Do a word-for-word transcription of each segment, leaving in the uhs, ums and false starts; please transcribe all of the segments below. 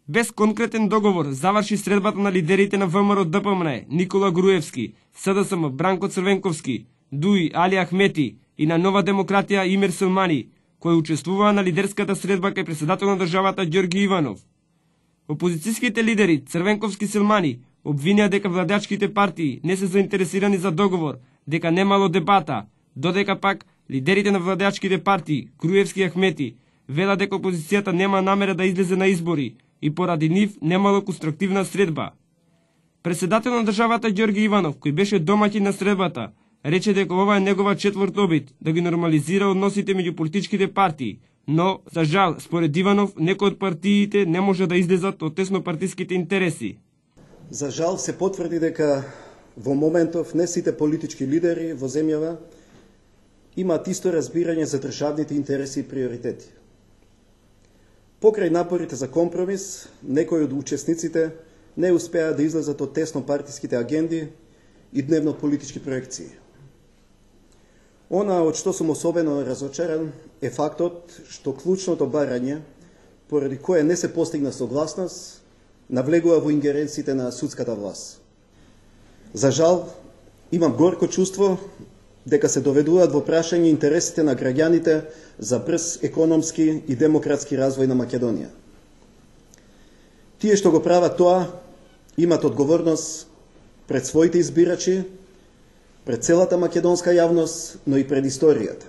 Без конкретен договор заврши средбата на лидерите на ВМРО Д П М Н Никола Груевски, С Д С М Бранко Црвенковски, Д У И Али Ахмети и на Нова демократија Имир Селмани, кој учествуваа на лидерската средба кај председател на државата Ѓорги Иванов. Опозицијските лидери Црвенковски Селмани обвинија дека владеачките партии не се заинтересирани за договор, дека немало дебата, додека пак лидерите на владеачките партии Груевски и Ахмети велат дека опозицијата нема намера да излезе на избори и поради нив немало конструктивна средба. Председател на државата Ѓорги Иванов, кој беше домаќин на средбата, рече дека ова е негова четврт обид да ги нормализира односите меѓу политичките партии, но, за жал, според Иванов, некои од партиите не може да излезат од теснопартиските интереси. За жал се потврди дека во моментов не сите политички лидери во земјава имаат исто разбирање за државните интереси и приоритети. Покрај напорите за компромис, некои од учесниците не успеа да излезат од теснопартиските агенди и дневно политички проекции. Она од што сум особено разочаран е фактот што клучното барање, поради кое не се постигна согласност, навлегува во ингеренциите на судската власт. За жал, имам горко чувство дека се доведуваат во прашање интересите на граѓаните за брз економски и демократски развој на Македонија. Тие што го прават тоа, имат одговорност пред своите избирачи, пред целата македонска јавност, но и пред историјата.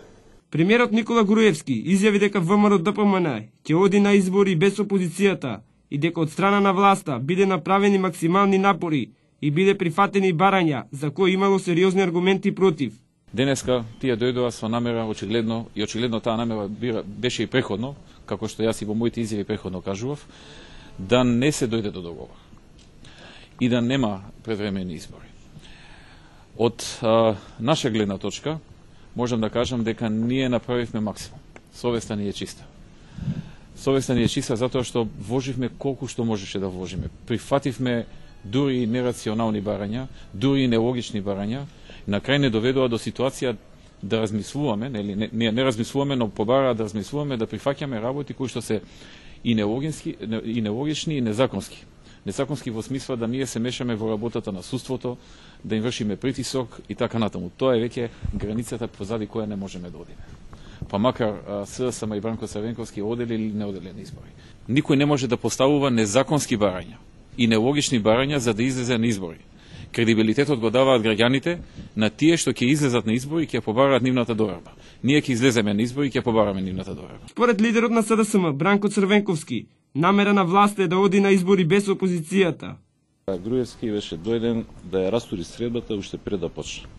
Премиерот Никола Груевски изјави дека ВМРО Д П М Н ќе оди на избори без опозицијата и дека од страна на власта биде направени максимални напори и биде прифатени барања за кои имало сериозни аргументи против. Денеска тие дојдоа со намера очигледно и очигледно таа намера беше и преходно, како што јас и во моите изјави преходно кажував, да не се дојде до договор и да нема превремени избори. Од а, наша гледна точка можам да кажам дека ние направивме максимум. Совеста ни е чиста. Совеста ни е чиста затоа што вложивме колку што можеше да вложиме. Прифативме дури и нерационални барања, дури и нелогични барања. На крај не доведува до ситуација да размислуваме, нели не, не, не размислуваме, но побара да размислуваме, да прифаќаме работи кои што се и нелогични, и нелогични и незаконски. Незаконски во смисла да ние се мешаме во работата на судството, да им вршиме притисок и така натаму. Тоа е веќе границата позади која не можеме да одиме. Па макар С Д С М и Бранко Црвенковски одели или не одели на избори. Никој не може да поставува незаконски барања и нелогични барања за да излезе на избори. Кредибилитетот го даваат граѓаните на тие што ќе излезат на избори и ќе побараат нивната доверба. Ние ќе излеземе на избори и ќе побараме нивната доверба. Според лидерот на С Д С М Бранко Црвенковски, намера на власта е да оди на избори без опозицијата. Груевски беше дојден да ја растури средбата уште пред да почне.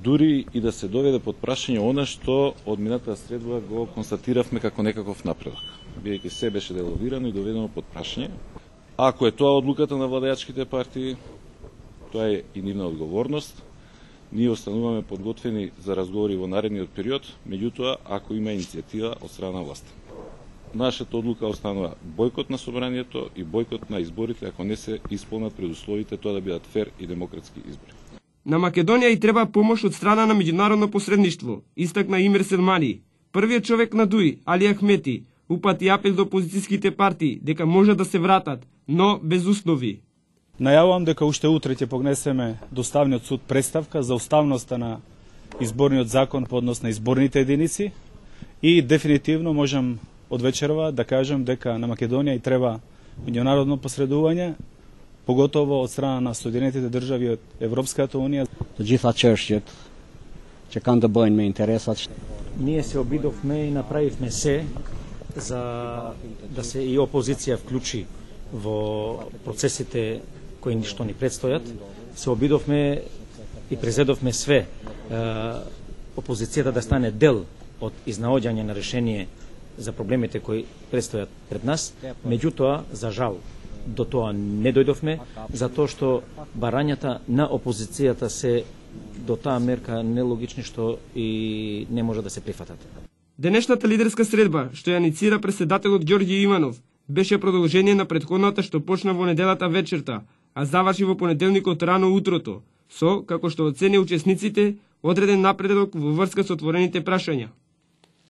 Дури и да се доведе под прашање она што од минатата средба го констатиравме како некаков напредок, бидејќи се беше деловирано и доведено под прашање. Ако е тоа одлуката на владеачките партии, тоа е и нивна одговорност. Ние остануваме подготвени за разговори во наредниот период, меѓутоа ако има иницијатива од страна на власта. Нашата одлука останува бојкот на собранието и бојкот на изборите ако не се исполнат предусловите тоа да бидат фер и демократски избори. На Македонија и треба помош од страна на меѓународно посредништво, истакна Имир Селмани. Првиот човек на Д У И, Али Ахмети, упати апел до опозицијските партии дека може да се вратат, но без услови. Најавувам дека уште утре ќе погнесеме до Уставниот суд представка за уставноста на изборниот закон по однос на изборните единици и дефинитивно можам од вечерва да кажам дека на Македонија и треба меѓународно посредување, поготово од страна на Соединетите држави од Европската унија. Të gjitha çështjet që kanë të bëjnë me interesat. Ние се обидовме и направивме се за да се и опозиција вклучи во процесите кои што ни предстојат. Се обидовме и презедовме све опозицијата да стане дел од изнаоѓање на решение за проблемите кои предстојат пред нас. Меѓутоа, за жал, до тоа не дојдовме, затоа што барањата на опозицијата се до таа мерка нелогични што и не може да се прифатат. Денешната лидерска средба, што ја иницира председателот Ѓорги Иванов, беше продолжение на претходната што почна во неделата вечерта, а заврши во понеделникот рано утрото, со, како што оцени учесниците, одреден напредок во врска со отворените прашања.